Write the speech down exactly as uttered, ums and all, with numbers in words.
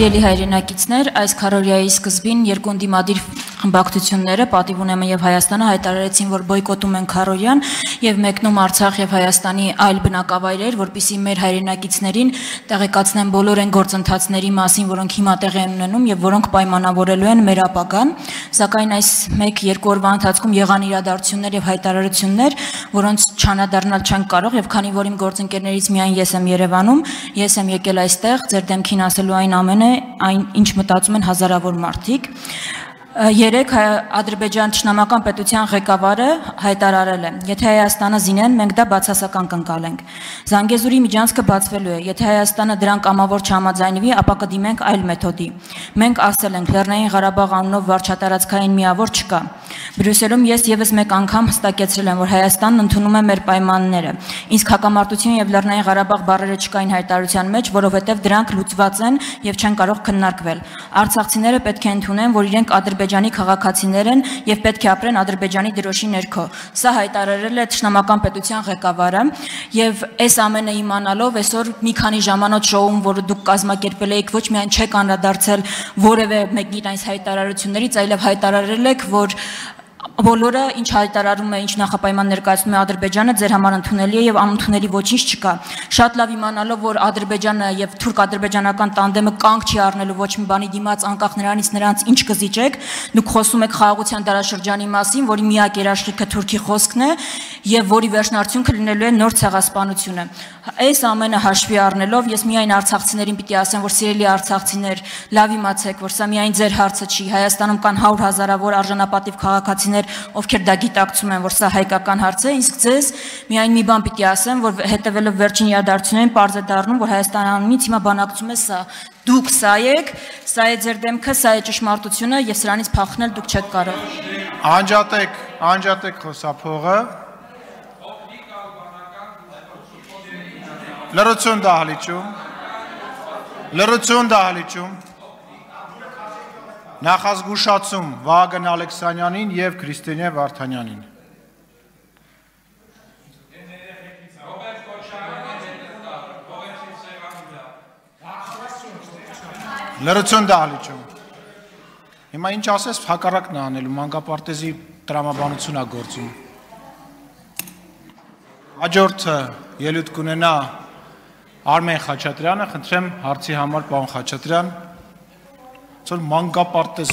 Ելի հայրենակիցներ, այս քարորիայի սկզբին երկու ընդդիմադիր խմբակցությունները պատիվ ունենը եւ Հայաստանը հայտարարեցին, որ բոյկոտում են քարորիան եւ մեկնում Արցախ եւ Հայաստանի այլ բնակավայրեր, որպեսզի մեր հայրենակիցներին տեղեկացնեն բոլոր այն գործընթացների մասին, որոնք հիմա տեղի են ունենում եւ որոնք պայմանավորելու են մեր ապագան, սակայն այս մեկ-երկու օրվա ընթացքում եղան իրադարձություններ եւ հայտարարություններ, որոնց չանադառնալ չեն կարող եւ քանի որ իմ գործընկերներից միայն ես եմ Երևանում, ես եմ եկել այստեղ ձեր դեմքին ասելու այն ամենը այն ինչ մտածում են հազարավոր մարդիկ Երեք Ադրբեջան Ճշնամական պետության ղեկավարը հայտարարել է. Եթե Հայաստանը զինեն, մենք դա բացասական կընկալենք։ Զանգեզուրի միջանցքը բացվելու է։ Եթե Հայաստանը դրան կամավոր չհամաձայնվի, ապա կդիմենք այլ մեթոդի։ Մենք ասել ենք, Լեռնային Ղարաբաղ անունով վարչատարածքային միավոր չկա։ Բրյուսելում ես եւս մեկ անգամ հստակեցրել եմ, որ Հայաստանն ընդունում է մեր պայմանները։ Իսկ հակամարտություն եւ Լեռնային Ղարաբաղ բառերը չկային հայտարարության մեջ, որովհետեւ դրանք լուծված են եւ չեն կարող քննարկվել։ Արցախցիները պետք է ընդունեն, որ իրենք Ադրբեջանի քաղաքացիներ են եւ պետք է ապրեն Ադրբեջանի դրոշի ներքո։ Սա հայտարարել է Ճշնամական պետության ղեկավարը եւ այս ամենը իմանալով այսօր մի քանի ժամանոց շոում, որը դուք կազմակերպել եք, ոչ միայն չեք անդրադարձել որևէ մեկին այս հայտարարություններից, այլև հայտարարել եք, որ բոլորը ինչ հայտարարում է, ինչ նախապայման ներկայացնում է Ադրբեջանը, ձեր համար ընդունելի է եւ անընդունելի ոչինչ չկա։ Շատ լավ իմանալով, որ Ադրբեջանը եւ թուրք-ադրբեջանական տանդեմը կանգ չի առնելու ոչ մի բանի դիմաց, անկախ նրանից նրանց ինչ կզիջեք, դուք խոսում եք խաղաղության դարաշրջանի մասին, որի միակ երաշխիքը Թուրքի խոսքն է եւ որի վերջնարդյունքը լինելու է նոր ցեղասպանությունը։ Այս ամենը հաշվի առնելով ես միայն արցախցիներին պիտի ասեմ, որ սիրելի արցախցիներ, լավ իմացեք, որ սա միայն ձեր հարցը չի, Հայաստանում կան հարյուր հազարավոր արժանապատիվ քաղաքացիներ, ովքեր դա գիտակցում են, որ սա հայկական հարց է, իսկ ձեզ միայն մի բան պիտի ասեմ, որ հետևելով վերջին իրադարձություններին պարզ է դառնում, որ Հայաստանից հիմա բանակցում է սա։ Դուք սա եք, սա է ձեր դեմքը, սա է ճշմարտությունը եւ սրանից փախնել դուք չեք կարող։ Անջատեք, անջատեք խոսափողը։ Լրություն դահլիճում։ Լրություն դահլիճում։ Նախազգուշացում Վահագն Ալեքսանյանին եւ Քրիստինե Վարդանյանին։ Լրություն դահլիճում։ Հիմա ինչ ասես հակառակն է անելու, մանկապարտեզի տրամաբանություն է գործում։ Հաջորդը ելույթ կունենա Արմեն Խաչատրյանը, խնդրեմ հարցի համար պարոն Խաչատրյան, որ մանկապարտեզ